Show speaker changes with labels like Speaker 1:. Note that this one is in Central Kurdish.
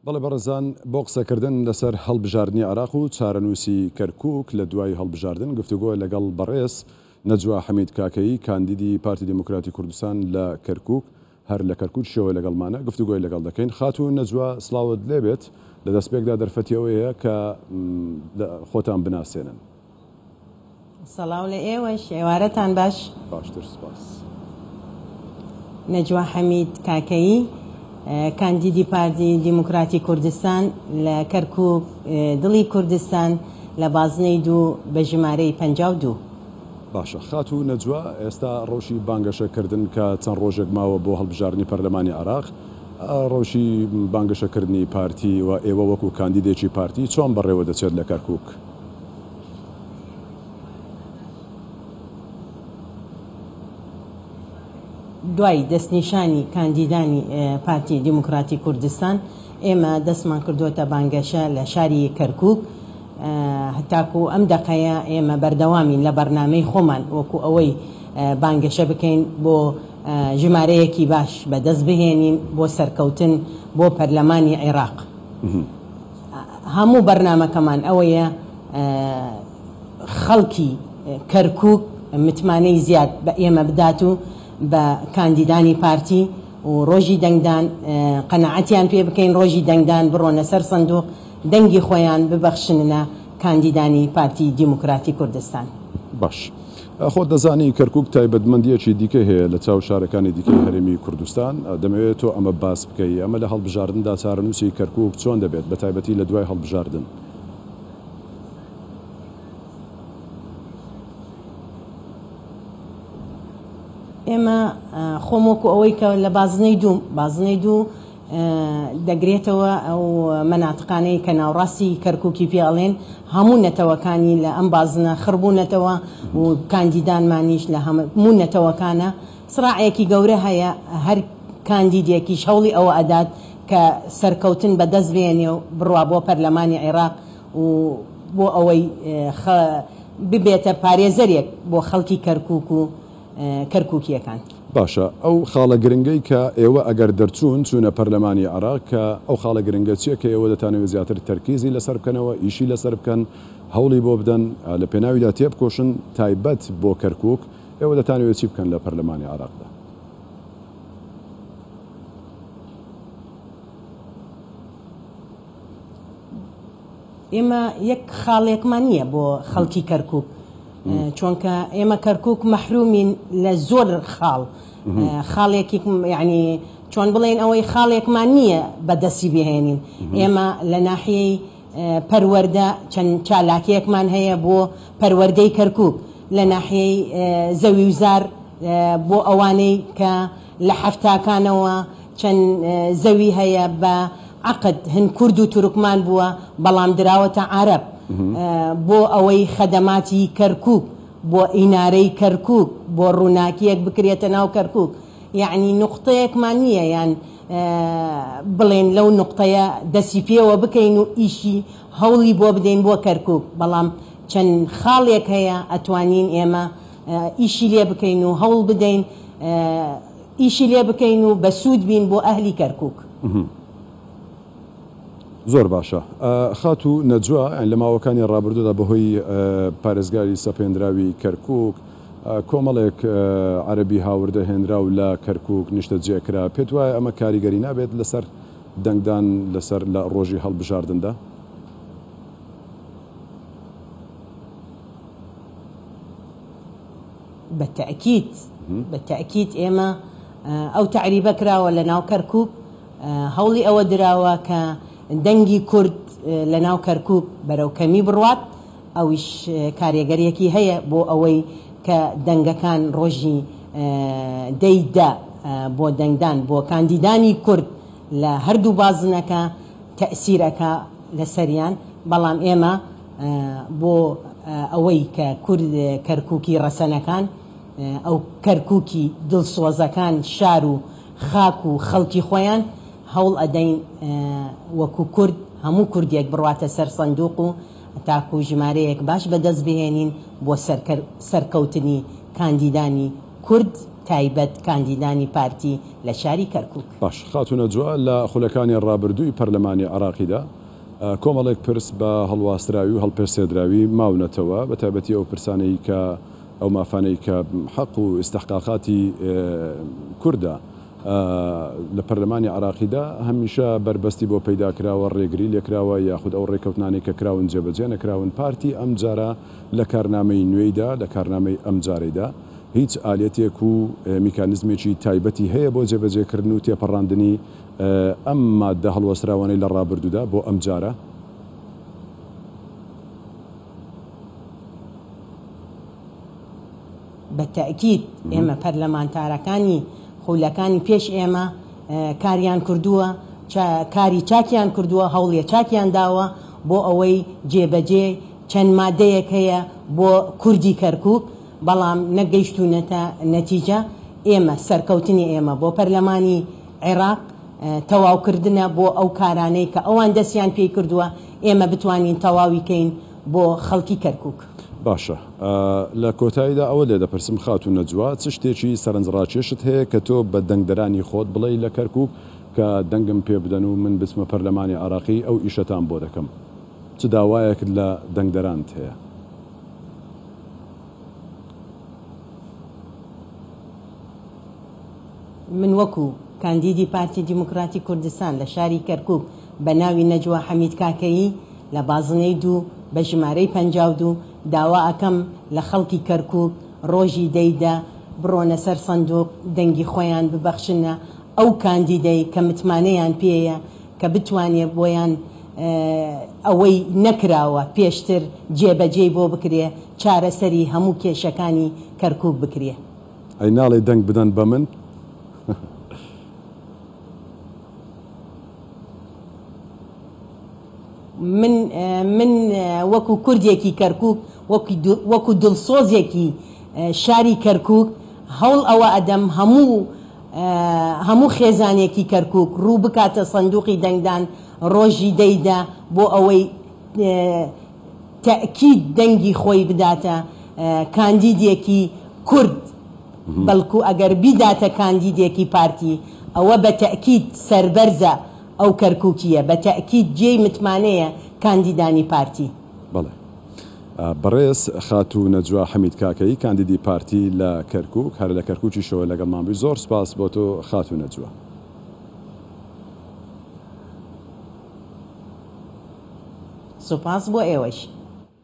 Speaker 1: بەڵێ بەڕێزان، بۆ قسەکردن لەسەر هەڵبژاردنی عێراق و چارەنووسی کەرکووک لە دوای هەڵبژاردن گفتوگۆ لەگەڵ بەڕێز نەجوا حەمید کاکەیی کاندیدی پارتی دیموکراتی کوردستان لە کەرکووک هەر لە کەرکووکیشەوە لەگەڵمانە گفتوگۆی لەگەڵ دەکەین. خاتوو نەجوا سڵاوت لێبێت، لە دەستپێکدا دەرفەتی ئەوەیە کە خۆتان بناسێنن.
Speaker 2: سڵاو لە ئێوەش، ئێوارەتان باش.
Speaker 1: باشتر سپاس.
Speaker 2: نەجوا حەمید کاکەیی، کاندیدی پارتی دیموکراتی کوردستان لە کەرکووک، دڵی کوردستان، لە بازنەی دوو بە ژمارەی 52.
Speaker 1: باشە خاتوو نەجوا، ئێستا ڕەوشی بانگەشە کردن کە چەند ڕۆژێک ماوە بۆ هەڵبژاردنی پەرلەمانی عێراق، ڕەوشی بانگەشە کردنی پارتی و ئێوە وەکو کاندیدێکی پارتی چۆن بەڕێوە دەچێت لە کەرکووک؟
Speaker 2: دوای دەستنیشانی کاندیدانی پارتی دیموکراتی کوردستان، ئێمە دەستمان کردووەتە بانگەشە لە شاری کەرکووک. هەتاکو ئەم دەقەیە ئێمە بەردەوامین لە بەرنامەی خۆمان وەکو ئەوەی بانگەشە بکەین بۆ ژمارەیەکی باش بەدەست بهێنین بۆ سەرکەوتن بۆ پەرلەمانی عێراق. هەموو بەرنامەکەمان ئەوەیە خەڵکی کەرکوک متمانەی زیاد بە ئێمە بدات و بە کاندیدانی پارتی و ڕۆژی دەنگدان قەناعەتیان پێ بکەین، ڕۆژی دەنگدان بڕۆنە سەر سندوق دەنگی خۆیان ببەخشننە کاندیدانی پارتی دیموکراتی کوردستان.
Speaker 1: باش خۆت دەزانی کەرکوک تایبەتمەندییەکی دیکەی هەیە لە چاو شارەکانی دیکەی هەرێمی کوردستان، دەمەوێت تۆ ئەمە باس بکەی، ئەمە لە هەڵبژاردندا چارەنووسی کەرکوک چۆن دەبێت بە تایبەتی لە دوای هەڵبژاردن؟
Speaker 2: ئێمە خۆم وەکو ئەوەی کە لە بازنەی دووم، بازنەی دوو دەگرێتەوە ئەو مەناتقانەی کە ناوڕاستی کەرکوکی پێ ئەڵێن هەموو نەتەوەکانی لە ئەم بازنە خڕبوونەتەوە و کاندیدانمانیش لە هەموو نەتەوەکانە سڕاعێکی گەورە هەیە هەر کاندیدێکیش هەوڵی ئەوە ئەدات کە سەرکەوتن بەدەست بێنێ و بڕوا بۆ پەرلەمانی عێراق و بۆ ئەوەی ببێتە پارێزەرێک بۆ خەڵکی کەرکوک و کەرکوکییەکان.
Speaker 1: باشە ئەو خاڵە گرنگەی کە ئێوە ئەگەر دەرچوون چوونە پەرلەمانی عێراق کە ئەو خاڵە گرنگە چیە کە ئێوە دەتانەوێت زیاتر تەرکیزی لەسەر بکەنەوە ئیشی لەسەر بکەن هەوڵی بۆ بدەن لە پێناویدا تێبکۆشن تایبەت بۆ کەرکوک ئێوە دەتانەوێت چی بکەن لە پەرلەمانی عێراقدا؟
Speaker 2: ئێمە یەک خاڵێکمان نییە بۆ خەڵکی کەرکک چۆنکە ئێمە کەرکک مەحرومین لە زۆر خاڵ خاڵێکی یعنی چۆن بڵێن ئەوەی خاڵێکمان نییە بەدەستی بهێنین ئێمە لە ناحیەی پەروەردە چەند چالاکیەکمان هەیە بۆ پەروەردەی کەرکک لە ناحیەی زەوی و زار بۆ ئەوانەی کە لە حەفتاکانەوە چەند زەوی هەیە بە عەقد هن کورد و تورکمان بووە بەڵام دراوەتە عەرەب بۆ ئەوەی خەدەماتی کەرکوک بۆ ئینارەی کەرکوک بۆ ڕووناکیەک بکرێتە ناو کەرکوک یەعنی نوقتەیەکمان نییە یان بڵێن لەو نوقتەیە دەسی پێوە بکەین و ئیشی هەوڵی بۆ بدەین بۆ کەرکوک بەڵام چەند خاڵێک هەیە ئەتوانین ئێمە ئیشی لێ بکەین و هەوڵ بدەین ئیشی لێ بکەین و بەسوود بین بۆ ئەهلی کەرکوک.
Speaker 1: زۆر باشە خاتوو نەجوا، لە ماوەکانی ڕابردوودا بەهۆی پارێزگاری سەپێنراوی کەرکوک کۆمەڵێک عەرەبی هاوردە هێنراو لە کەرکوک نیشتەجێ کرا، پێت وایە ئەمە کاریگەری نابێت لەسەر دەنگدان لەسەر لە ڕۆژی هەڵبژاردندا؟
Speaker 2: بە تەئکید بە تەئکید ئێمە ئەو تەعریبە کراوە لە ناو کەرکوک هەوڵی ئەوە دراوە کە دەنگی کورد لە ناو کەرکوک بەرەو کەمی بڕوات ئەویش کارێگەریەکی هەیە بۆ ئەوەی کە دەنگەکان ڕۆژی دەی دە بۆ دەنگدان بۆ کاندیدانی کورد لە هەردوو بازنەکە تەئسیر ئەکا لەسەریان بەڵام ئێمە بۆ ئەوەی کە کورد کەرکوکی ڕەسەنەکان ئەو کەرکوکی دڵسۆزەکان شار و خاک و خەڵکی خۆیان هەوڵ ئەدەین وەکو کورد هەموو کوردێک بڕواتە سەر سندوق و تاکو ژمارەیەک باش بەدەست بهێنین بۆ سەرکەوتنی کاندیدانی کورد. تایبەت کاندیدانی پارتی لە شاری کەرکوک.
Speaker 1: باش خاتوو نەجوا لە خولەکانی ڕابردووی پەرلەمانی عێراقیدا کۆمەڵێک پرس بە هەڵواسراوی و هەڵپەسێردراوی ماونەتەوە بە تایبەتی ئەو پرسانەی کە ئەو مافانەی کە حەق و ئیستحقاقاتی کوردە لە پەرلەمانی عێراقیدا هەمیشە بەربەستی بۆ پەیدا کراوە، ڕێگری لێکراوە یاخود ئەو ڕێککەوتنانەی کە کراون جێبەجێ نەکراون، پارتی ئەمجارە لە کارنامەی نوێیدا، لە کارنامەی ئەمجارەیدا هیچ ئالیەتێک و میکانیزمێکی تایبەتی هەیە بۆ جێبەجێکردن و تێپەڕاندنی ئەم ماددە هەڵوەسراوانەی لە ڕابردوودا بۆ ئەمجارە؟
Speaker 2: بە تەئکید ئێمە پەرلەمانتارەکانی خولەکانی پێش ئێمە کاریان کردووە، کاری چاکیان کردووە، هەوڵی چاکیان داوە بۆ ئەوەی جێبەجێ چەند مادەیەک هەیە بۆ کوردی کەرکوک، بەڵام نەگەیشتوونەتە نەتیجە، ئێمە سەرکەوتنی ئێمە بۆ پەرلەمانی عێراق تەواوکردنە بۆ ئەو کارانەی کە ئەوان دەستیان پێی کردووە، ئێمە بتوانین تەواوی کەین بۆ خەڵکی کەرکوک.
Speaker 1: باشە لە کۆتاییدا ئەوە لێ دەپرسم خاتوو نەجوا چ شتێکی سەرنجڕاکێشت هەیە کە تۆ بە دەنگدەرانی خۆت بڵێی لە کەرکوک کە دەنگم پێ بدەن و من بچمە پەرلەمانی عێراقی ئەو ئیشەتان بۆ دەکەم؟ چ داوایەکت لە دەنگدەرانت هەیە؟
Speaker 2: من وەکو کاندیدی پارتی دیموکراتی کوردستان لە شاری کەرکوک بە ناوی نەجوا حەمید کاکەیی لە بازنەی دوو بە ژمارەی 52 داوا ئەکەم لە خەڵکی کەرکوک ڕۆژی دەی دە بڕۆنە سەر سندوق دەنگی خۆیان ببەخشنە ئەو کاندیدەی کە متمانەیان پێیە کە بتوانێ بۆیان ئەوەی نەکراوە پێشتر جێبەجێی بۆ بکرێ چارەسەری هەموو کێشەکانی کەرکوک بکرێ.
Speaker 1: ئەی ناڵێی دەنگ بدەن بە من؟
Speaker 2: من من وەکو کوردێکی کەرکوک وەکو دڵسۆزێکی شاری کەرکوک هەوڵ ئەوە ئەدەم هەموو هەموو خێزانێکی کەرکوک ڕوو بکاتە سندوقی دەنگدان ڕۆژی دەیدا بۆ ئەوەی تەئکید دەنگی خۆی بداتە کاندیدێکی کورد بەڵکو ئەگەر بیداتە کاندیدێکی پارتی ئەوە بە تەئکید سەربەرزە ئەو کەرکوکییە بە تەئکید جێی متمانەیە کاندیدانی پارتی.
Speaker 1: بەڵێ بەڕێز خاتوو نەجوا حەمید کاکەیی کاندیدی پارتی لە کەرکوک هەر لە کەرکوکیشەوە لەگەڵمان بووی زۆر سوپاس بۆ تۆ خاتوو نەجوا.
Speaker 2: سوپاس بۆ ئێوەش.